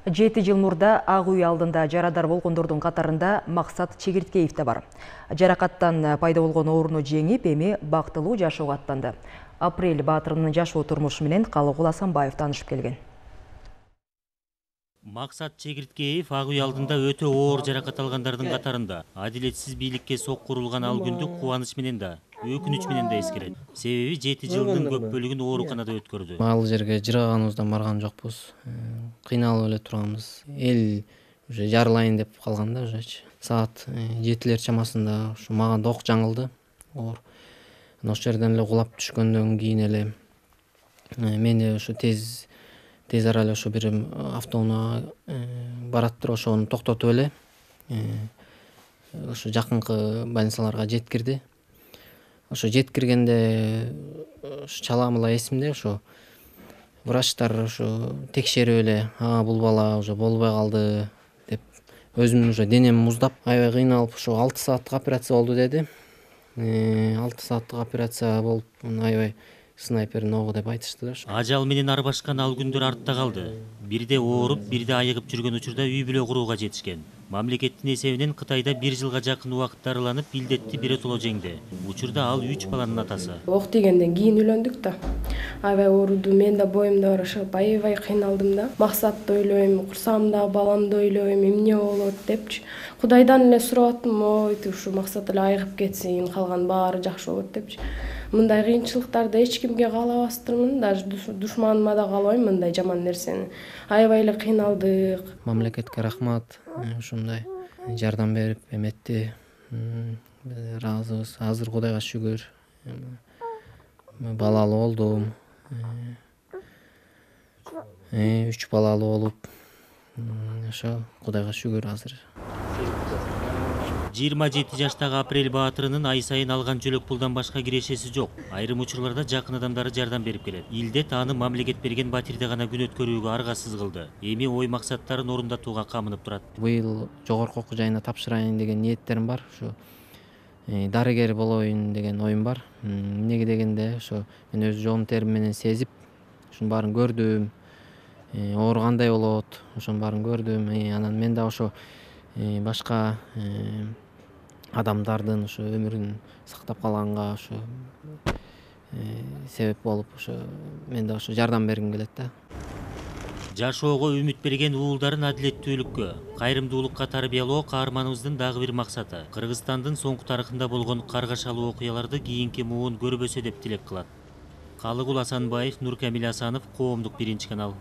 7 жыл мурда Ак үй алдында жарадар болгондордун катарында Максат Чегирткеев да бар. Жаракаттан пайда болгон ооруну жеңип, эми бактылуу жашоого аттанды. Апрель Баатырынын жашоо турмушу менен Калыгул Асанбаев таанышып келген. Максат Чегирткеев Ак үй алдында өтө оор жаракат алгандардын катарында. Адилетсиз бийликке соккурулган ал күндү кубаныч менен да, өкүнүч менен да эскерет. Себеби 7 жылдын көп бөлүгүн ооруканада өткөрдү. Ал жерге жыраганыбыздан барган жокпуз. Кыйналып эле турганбыз. Эл уже жарылайын деп калган да уже. Саат 7-лер чамасында ушу мага док жаңылды. Ошол жерден эле кулап түшкөндөн кийин эле мени ушу тез арале ошо бир автоунаа бараттыр, ошону токтотуп эле ошо жакынкы больницаларга жеткирди. Ошо жеткиргенде чаламыла эсимде, ошо врачтар ошо текшерип эле, бул бала уже болбой калды деп, өзүмдүн уже денем муздап, аябай кыйналып, ошо 6 сааттык операция болду деди. 6 сааттык операция болуп, аябай снайпер ногу деп айтышты. Ажал менен арбашкан ал күндөр артта калды. Бирде ооруп, бирде айыгып жүргөн учурда үй бүлө курууга жетишкен. Мамлекеттин эсебинен Кытайда 1 жылга жакын убакыт дарыланып, илдетти биротоло жеңди. Учурда ал 3 баланын атасы. Ок тийгенден кийин үйлөндүк да. Аябай ооруду, мен да боюмда барышып, аябай кыйналдым да. Максатты ойлойм, курсагымдагы баламды ойлойм, эмне болот депчи. Кудайдан эле сурап аттым, ой, ушу Максат эле айыгып кетсин, калган баары жакшы болот депчи. Мындай кыйынчылыктарды эч кимге каалабастырмын, даже душманыма да каалабайм мындай жаман нерсени. Аябай эле кыйналдык. Мамлекетке рахмат, ушундай жардам берип эметти. Ыраазыбыз. Азыр Кудайга шүгүр. Балалуу болдум. 3 балалуу болуп, ошо Кудайга шүгүр азыр. 27 жаштагы Апрель Баатырынын ай сайын алган жөлөк пулдан башка кирешеси жок. Айрым учурларда жакын адамдары жардам берип келет. Илдет аны мамлекет берген батирде гана күн өткөрүүгө аргасыз кылды. Эми ой максаттарын орундатууга камынып турат. Быйыл жогорку окуу жайына тапшырайын деген ниеттерим бар. Ушу дарыгер болоюн деген оюм бар. Эмнеге дегенде, ошо мен өз жоом терим менен сезип, ушунун баарын көрдүм. Оору кандай болот, ошонун баарын көрдүм. Анан мен да ошо башка адамдардын ошо өмүрүн сактап калганга ошо себеп болуп, ошо мен да ошо жардам бергим келет да. Жашоого үмүт берген уулдарын адилеттүүлүккө, кайрымдуулукка тарбиялоо каарманыбыздын дагы бир максаты. Кыргызстандын соңку тарыхында болгон каргашалуу окуяларды кийинки муун көрбөсө деп тилек кылат. Калыгул Асанбаев, Нуркамил Асанов, Коомдук 1 канал.